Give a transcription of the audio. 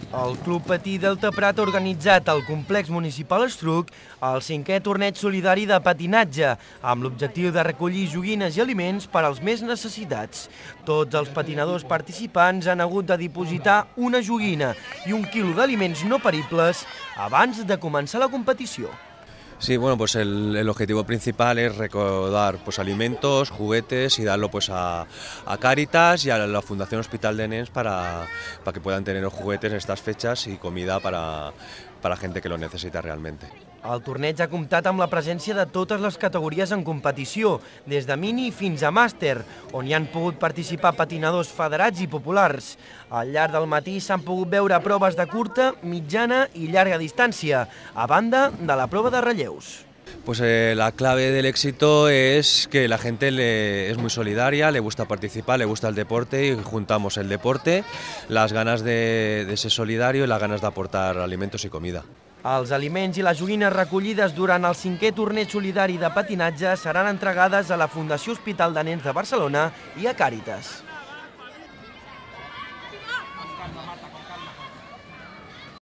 El Club Patí Delta Prat ha organitzat al Complex Municipal Estruc el 5è torneig solidari de patinatge, amb l'objectiu de recollir joguines i aliments per als més necessitats. Tots els patinadors participants han hagut de dipositar una joguina i 1 quilo d'aliments no peribles abans de començar la competició. Sí, bueno, pues el objetivo principal es recaudar pues, alimentos, juguetes y darlo pues, a Cáritas y a la Fundación Hospital de Nens para que puedan tener los juguetes en estas fechas y comida para gente que lo necesita realmente. El torneig ha comptat amb la presència de totes les categories en competició, des de mini fins a màster, on hi han pogut participar patinadors federats i populars. Al llarg del matí s'han pogut veure proves de curta, mitjana i llarga distància, a banda de la prova de relleus. Pues la clave del éxito es que la gente es muy solidaria, le gusta participar, le gusta el deporte y juntamos el deporte, las ganas de ser solidario y las ganas de aportar alimentos y comida. Els aliments i les joguines recollides durant el 5è torneig solidari de patinatge seran entregades a la Fundació Hospital de Nens de Barcelona i a Càritas.